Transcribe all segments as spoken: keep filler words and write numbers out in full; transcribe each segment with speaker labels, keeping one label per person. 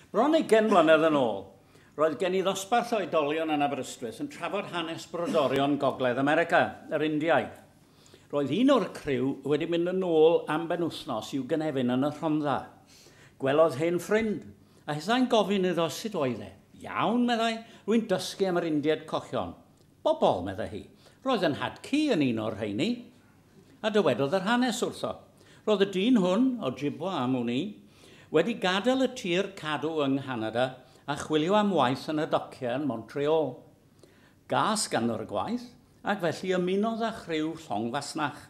Speaker 1: Bron ugain mlynedd yn ôl, roedd gen i ddosbarth oedolion yn Aberystwyth yn trafod hanes brodorion Gogledd America, yr Indiaid. Roedd un o'r criw wedi mynd yn ôl am benwythnos i'w gynefin yn y Rhondda. Gwelodd hen ffrind, a hithau'n gofyn iddo sut oedd e. Iawn, meddai, rwy'n dysgu am yr Indiaid cochion. Bobol, meddai hi. Roedd yn nhad-cu yn un o'r rheini. A dywedodd yr hanes wrtho. Roedd y dyn hwn, Ojibwa am wn i, wedi gadael y tir cadw yng Nghanada a chwilio am waith yn y dociau yn Montreal. Gas ganddo'r gwaith, ac felly ymunodd â chriw llong fasnach.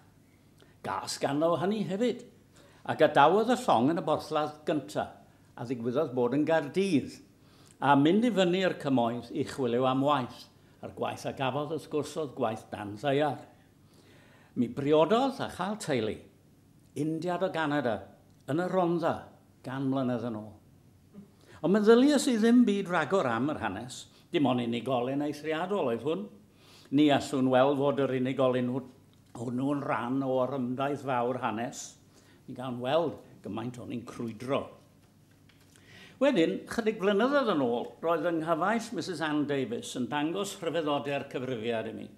Speaker 1: Gas ganddo hynny hefyd, a gadawodd y llong yn y borthladd gyntaf, a ddigwyddodd bod yn Gaerdydd, a mynd i fyny'r cymoedd i chwilio am waith, a'r gwaith a gafodd wrth gwrs oedd gwaith dan ddaear. Mi briododd a chael teulu, Indiad o Ganada, yn y Rhondda, gan mlynedd yn ôl. Ond meddyliais i ddim byd ragor am yr hanes, dim ond unigolyn eithriadol oedd hwn. Ni allwn weld fod yr unigolyn hwnnw'n rhan o orymdaith fawr hanes. Mi gawn weld gymaint o'n i'n crwydro. Wedyn, chydig blynyddoedd yn ôl, roedd yng nghyfaill Mrs Ann Davies yn dangos rhyfeddodau'r cyfrifiad i mi.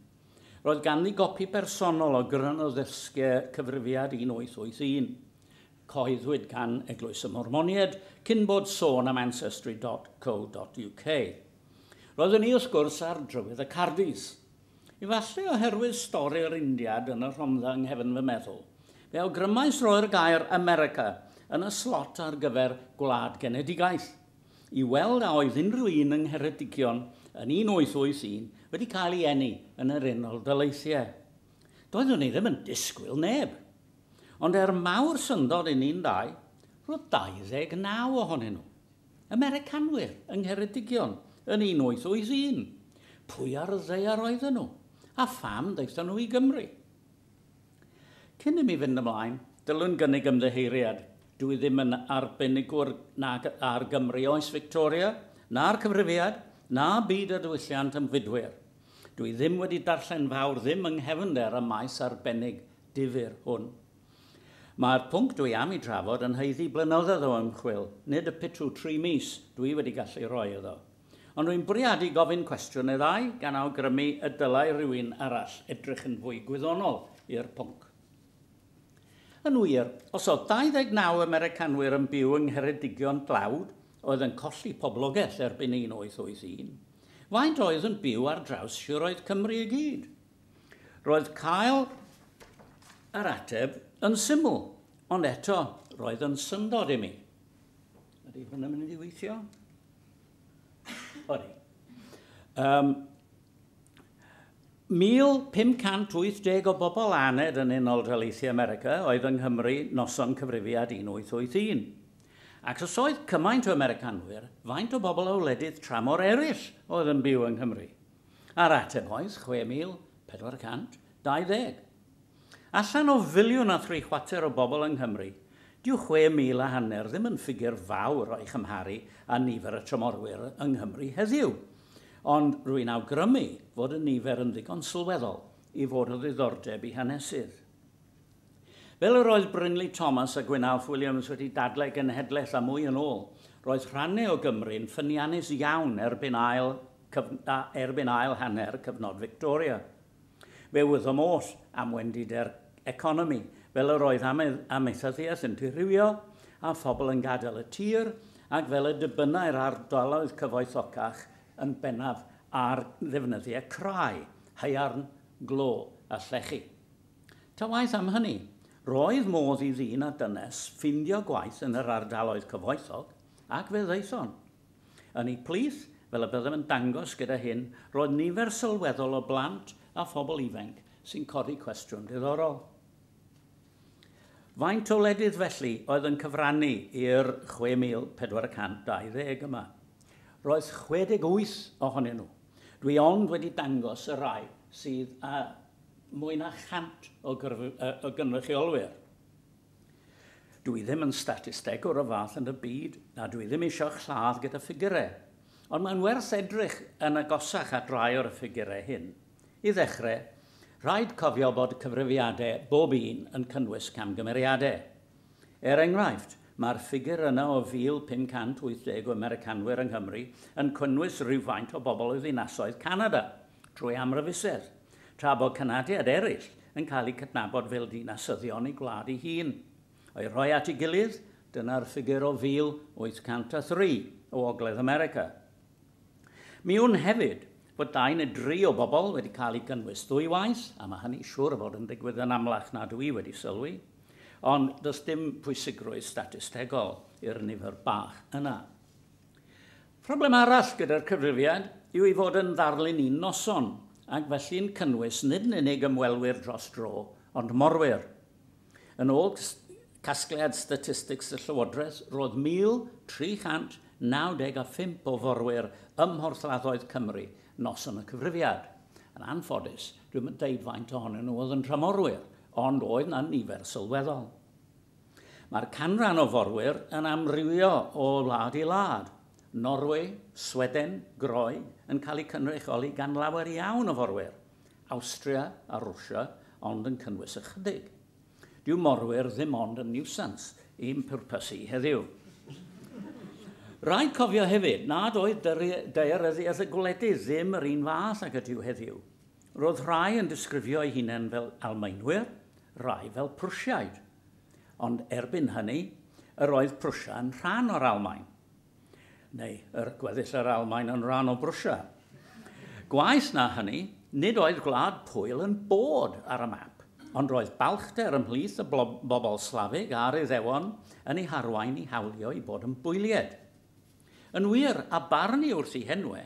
Speaker 1: Roedd ganddi gopi personol o gryno ddysgau cyfrifiad un wyth wyth un. Cyhoeddwyd gan Eglwys y Mormoniaid cyn bod sôn am ancestry dot co dot U K. Roeddwn i wrth gwrs ar drywydd y Cardis. Efallai oherwydd stori'r Indiad yn y Rhondda yng nghefn fy meddwl, fe awgrymais roi'r gair America yn y slot ar gyfer gwlad genedigaeth, i weld a oedd unrhyw un yng Ngheredigion yn un wyth wyth un wedi cael ei eni yn yr Unol Daleithiau. Doeddwn i ddim yn disgwyl neb. Ond er mawr syndod i ni'n dau, roedd dau ddeg naw ohonyn nhw. Americanwyr yng Ngheredigion yn un wyth wyth un. Pwy ar y ddaear oedden nhw? A pham ddaethon nhw i Gymru? Cyn i mi fynd ymlaen, dylwn gynnig ymddiheuriad. Dwi ddim yn arbenigwr nag ar Gymru oes Victoria, na'r cyfrifiad, na byd a diwylliant ymfudwyr. Dwi ddim wedi darllen fawr ddim yng nghefnder y maes arbennig difyr hwn. Mae'r pwnc dwi am i drafod yn haeddu blynyddoedd o ymchwil, nid y pitw tri mis dwi wedi gallu rhoi iddo. Ond dwi'n bwriadu gofyn cwestiwn neu ddau gan awgrymu y dylai rhywun arall edrych yn fwy gwyddonol i'r pwnc. Yn wir, os oedd dau ddeg naw Americanwyr yn byw yng Ngheredigion dlawd, oedd yn colli poblogaeth erbyn un wyth wyth un, faint oedd yn byw ar draws siroedd Cymru i gyd? Roedd cael yr ateb yn syml, ond eto roedd yn syndod i mi. Ydy hwnna'n mynd i weithio? Odi. Um, mil pum cant wyth deg o bobl aned yn Unol Daleithiau America oedd yng Nghymru noson cyfrifiad un wyth wyth un. Ac os oedd cymaint o Americanwyr, faint o bobl o wledydd tramor eraill oedd yn byw yng Nghymru? A'r ateb oedd chwe mil pedwar cant dau ddeg. Allan o filiwn a thri chwarter o bobl yng Nghymru, dyw chwe mil a hanner ddim yn ffigur fawr o'i chymharu â nifer y tramorwyr yng Nghymru heddiw. Ond rwy'n awgrymu fod y nifer yn ddigon sylweddol i fod o ddiddordeb i hanesydd. Fel yr oedd Brinley Thomas a Gwyn Alf Williams wedi dadlau genhedlaeth a mwy yn ôl, roedd rhannau o Gymru'n ffyniannus iawn erbyn ail, cyf, erbyn ail hanner cyfnod Victoria. Fe wyddom oll am wendidau'r economi, fel yr oedd amaethyddiaeth yn dirywio a phobl yn gadael y tir, ac fel y dibynnai'r ardaloedd cyfoethocach yn bennaf ar ddefnyddiau crai, haearn, glo a llechi. Ta waeth am hynny, roedd modd i ddyn a dynes ffindio gwaith yn yr ardaloedd cyfoethog, ac fe ddaethon. Yn eu plith, fel y byddem yn dangos gyda hyn, roedd nifer sylweddol o blant a phobl ifanc sy'n codi cwestiwn diddorol. Faint o wledydd felly oedd yn cyfrannu i'r chwe mil pedwar cant dau ddeg yma? Roedd chwe deg wyth ohonyn nhw. Dwi ond wedi dangos y rai sydd â mwy na chant o, o gynrychiolwyr. Dwi ddim yn statistegwr o fath yn y byd, a dwi ddim eisiau lladd gyda ffigurau. Ond mae'n werth edrych yn agosach at rai o'r ffigurau hyn. I ddechrau, rhaid cofio bod cyfrifiadau bob un yn cynnwys camgymeriadau. Er enghraifft, Mae'r ffigur yna o fil pum cant wyth deg o Americanwyr yng Nghymru yn cynnwys rhywfaint o bobl o ddinasoedd Canada drwy amryfusedd, tra bod Canadiad eraill yn cael eu cydnabod fel dinasyddion i gwlad ei hun. O'i rhoi at ei gilydd, dyna'r ffigur o fil wyth cant a thri o Ogledd America. Mi wn hefyd bod dau neu dri o bobl wedi cael eu gynnwys ddwywaith, a mae hynny siŵr o fod yn digwydd yn amlach na dwi wedi sylwi, ond does dim pwysigrwydd statistegol i'r nifer bach yna. Problem arall gyda'r cyfrifiad yw ei fod yn ddarlun un noson, ac felly'n cynnwys nid yn unig ymwelwyr dros dro, ond morwyr. Yn ôl casgliad statistics y Llywodraeth, roedd mil tri chant naw deg a phump o forwyr ym mhorthladdoedd Cymru noson y cyfrifiad. Yn anffodus, dwi'm yn deud faint ohonyn nhw oedd yn tramorwyr, ond oedd na nifer sylweddol. Mae'r canran o forwyr yn amrywio o wlad i wlad. Norwy, Sweden, Groeg yn cael eu cynrychioli gan lawer iawn o forwyr. Awstria a Rwsia, ond yn cynnwys ychydig. Dyw morwyr ddim ond yn niwsans i'n pwrpas i heddiw. Rhaid cofio hefyd nad oedd daearyddiaeth y gwledydd ddim yr un fath ag ydyw heddiw. Roedd rhai yn disgrifio eu hunain fel Almaenwyr, rhai fel Prwsiaid. Ond erbyn hynny, yr oedd Prwsia yn rhan o'r Almaen. Neu yr gweddill yr Almaen yn rhan o Brwsia. Gwaeth na hynny, nid oedd Gwlad Pwyl yn bod ar y map, ond roedd balchder ymhlith y bobl Slafig a'r Iddewon yn ei harwain i hawlio i bod yn bwylied. Yn wir, a barnu wrth ei henwe,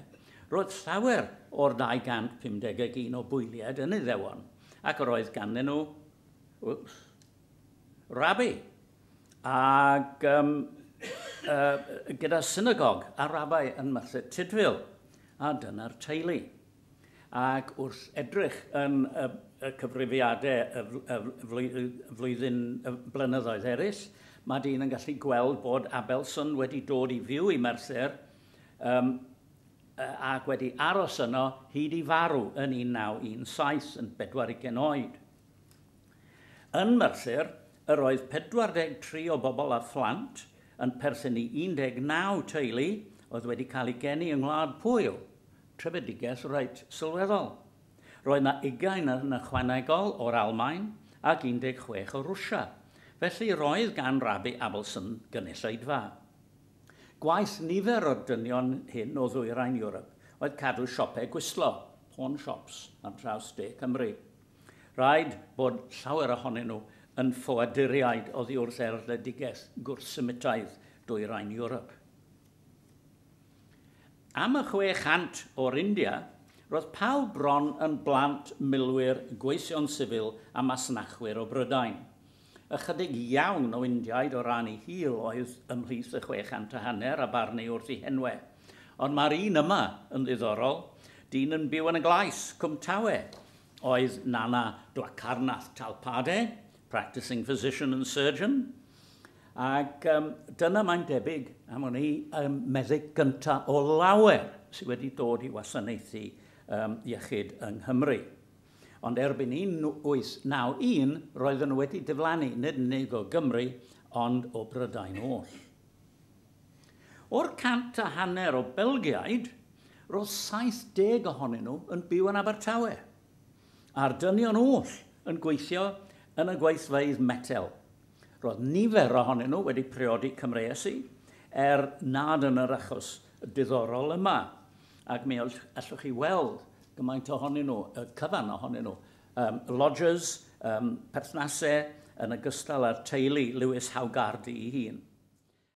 Speaker 1: roedd llawer o'r dau gant pum deg ag un o bwylied yn Iddewon, ac yr oedd ganddyn nhw whoops, rabi, ac um, uh, gyda synagog a rabai yn Merthyr Tudful, a dyna'r teulu. Ac wrth edrych yn y, y cyfrifiadau y, y, y flwyddyn y blynyddoedd eraill, mae dyn yn gallu gweld bod Abelson wedi dod i fyw i Merthyr um, ac wedi aros yno hyd i farw yn un naw un saith yn bedwar ugain oed. Yn Merthyr, yr oedd pedwar deg tri o bobl a phlant yn perthyn i un deg naw teulu oedd wedi cael eu geni yng Ngwlad Pwyl, trefedigaeth reit sylweddol. Roedd yna ugain yn ychwanegol o'r Almaen ac un deg chwech o Rwsia. Felly roedd gan Rabi Abelson gynulleidfa. Gwaith nifer o'r dynion hyn o ddwyrain Ewrop oedd cadw siopau gwystlo, pawn shops, ar draws De Cymru. Rhaid bod llawer ohonyn nhw yn ffoaduriaid oddi wrth erledigaeth gwrthsemitaidd dwyrain Ewrop. Am y chwe chant o'r India, roedd pawb bron yn blant milwyr, gweision sifil a masnachwyr o Brydain. Ychydig iawn o Indiaid o ran ei hil oedd ymhlith y chwe chant a hanner a barnu wrth ei henwe. Ond mae'r un yma yn ddiddorol, dyn yn byw yn y Glais, Cwmtawe, oedd Nana Dwakarnath Talpade, practicing physician and surgeon. Ac um, dyna mae'n debyg am hwn i um, meddyg gyntaf o lawer sydd wedi dod i wasanaethu um, iechyd yng Nghymru. Ond erbyn un wyth naw un, roedden nhw wedi diflannu, nid yn unig o Gymru, ond o Brydain oll. O'r cant a hanner o Belgiaid, roedd saith deg ohonyn nhw yn byw yn Abertawe, a'r dynion oll yn gweithio yn y gweithfeydd metel. Roedd nifer ohonyn nhw wedi priodi Cymreesi, er nad yn yr achos diddorol yma. Ac mi allwch chi weld gymaint ohonyn nhw, y cyfan ohonyn nhw, um, lodgers, um, perthnasau, yn ogystal â'r teulu Lewis Haugardi ei hun.